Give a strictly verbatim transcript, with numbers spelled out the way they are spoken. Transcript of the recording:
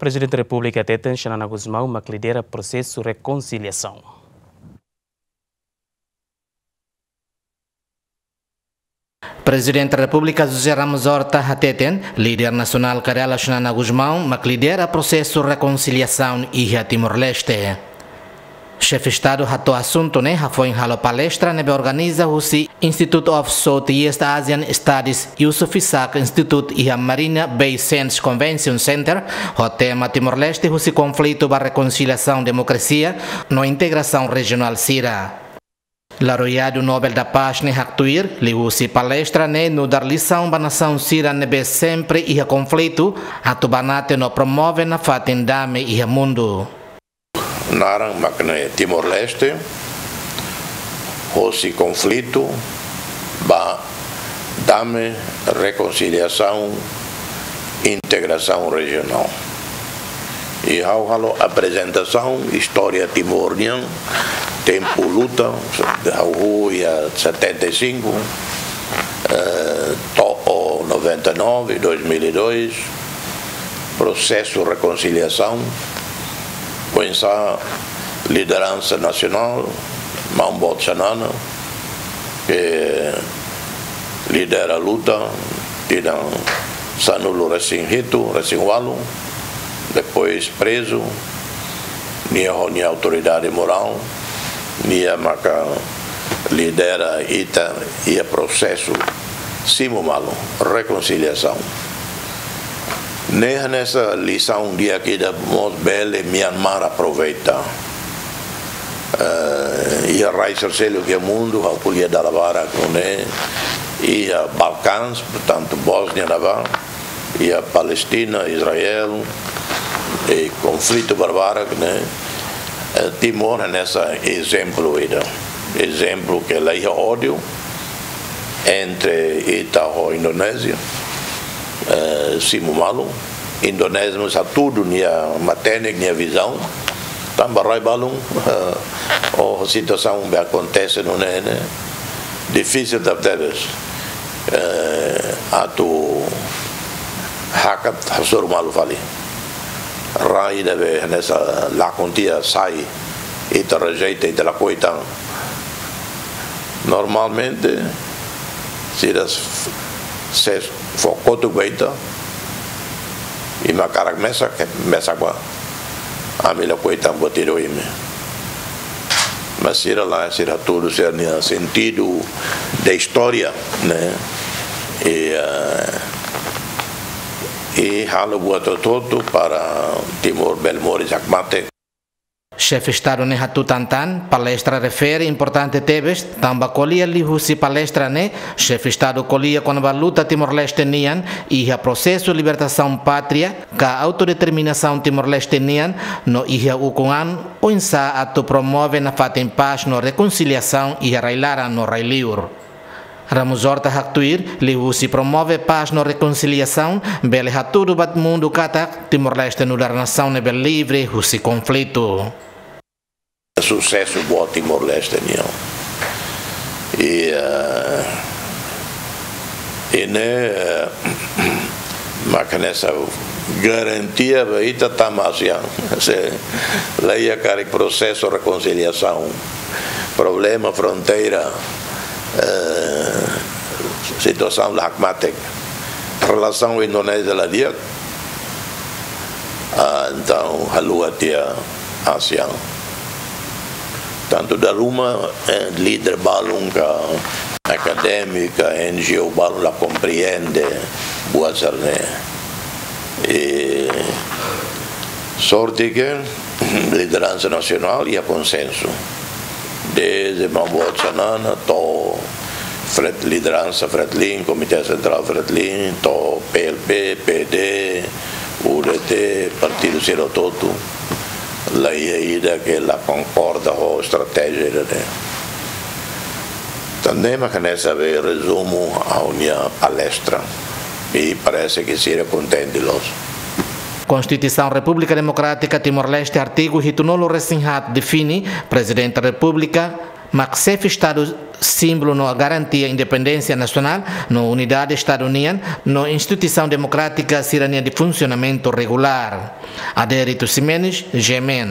Prezidente Repúblika hateten Xanana Gusmão mak lidera prosesu rekonsiliasaun. Prezidente Repúblika José Ramos Horta hateten, líder nasionál Karela Xanana Gusmão mak lidera prosesu rekonsiliasaun iha Timor-Leste. Xefe Estadu hato'o asuntu ne'e hafoin halo palestra ne'ebé organiza husi Institute of Southeast Asian Studies Yusof Isaac Institute iha Marina Bay Sands Convention Center, ho tema Timor-Leste husi konflitu ba rekonsiliasaun, demokrasia no integrasaun rejionál sira. Laureadu Nobel da Paz ne'e haktuir, liuhusi palestra ne'e nu'udar lisaun ba nasaun sira ne'ebé sempre iha konflitu, atu banate no promove nafatin dame iha mundu. Naran mak ne'e Timor-Leste, hosi konflitu ba dame, rekonsiliasaun, integrasaun rejionál. I ha'u halo aprezentasaun istória Timor nian, tempu luta, ha'u iha setenta e cinco, eh, to'o noventa e nove, dois mil e dois, prosesu rekonsiliasaun, oinsá lideransa nasionál, Maun Boot Xanana, ke lidera luta, tinan sanulu-resin-hitu, resin-ualu, depois prezu, nia ho nia autoridade morál, nia maka lidera ita iha prosesu simu malu, rekonsiliasaun. Ne'e hanesan lisaun di'ak ida mós bele Myanmar aproveita. Eh, iha rai seluk iha mundu, ha'u ko'alia dala barak ne'e, iha Balkans, portantu Bósnia ne'ebá, iha Palestina, Israel, i konflitu barbarak ne'e, eh, Timor hanesan ezemplu ida. Ezemplu ke la iha ódiu entre ita ho Indonézia, eh, simu malu. Indonézia mós hatudu nia matenek, nia vizaun. Tanba rai balun, eh, ho situasaun be akontese nune'e ne'e, difisil tebetebes, eh, atu hakat hasoru malu fali. Rai ida be hanesan lakon tiha sai, ita rejeita, ita lakohi tan. Normalmente, sira s-, se fó kotuk ba ita, imi hakarak mesak, mesak bá. Ami lakohi tan buat ida ho imi. Mas sira lae, sira hatudu sira-nia sentidu de istória, ne'e? I, eh, i halo buat hotu-hotu para Timor bele moris hakmatek. Xefe Estadu ne'e hatutan tan, palestra refere importante tebes, tanba ko'alia liuhusi palestra ne'e, Xefe Estadu ko'alia kona-ba luta Timor-Leste nian iha prosesu libertasaun pátria ka autodeterminasaun Timor-Leste nian, no iha ukun an oinsá atu promove nafatin pás no rekonsiliasaun iha rai-laran no rai-liur. Ramos Horta haktuir, liuhusi promove pás no rekonsiliasaun, bele hatudu ba mundu katak Timor-Leste nu'udar nasaun ne'ebé livre husi konflitu. Susesu boot Timor-Leste nian. I, eh, i ne'e, eh, mak hanesan garantia ba ita tama ASEAN. Se la iha karik prosesu rekonsiliasaun, problema fronteira, eh, situasaun la hakmatek, relasaun Indonézia la di'ak, ah, entaun haluha tiha ASEAN. Tantu dala ruma, eh, líder balun ka akadémiku, N G O balun la komprende buat sira-ne'e. I sorte ke lideransa nasionál iha konsensu. Dezde Maun Boot Xanana to'o Fret-, lideransa Fretilin, Komité Sentrál Fretilin, to'o P L P, P D, U D T, partidu sira hotu-hotu, la iha ida ke la konkorda ho estratéjia ida-ne'e. Tan ne'e mak hanesan be rezumu ha'u-nia palestra. I parese ke sira kontente loos. Konstituisaun Repúblika Demokrátika Timor-Leste, artigu hitunulu-resin-haat define, Prezidente Repúblika mak xefe Estadu símbolu no garantia independénsia nasionál no unidade Estadu nian no instituisaun demokrátika sira-nia funsionamentu regulár. Adérito Ximenes, G M N.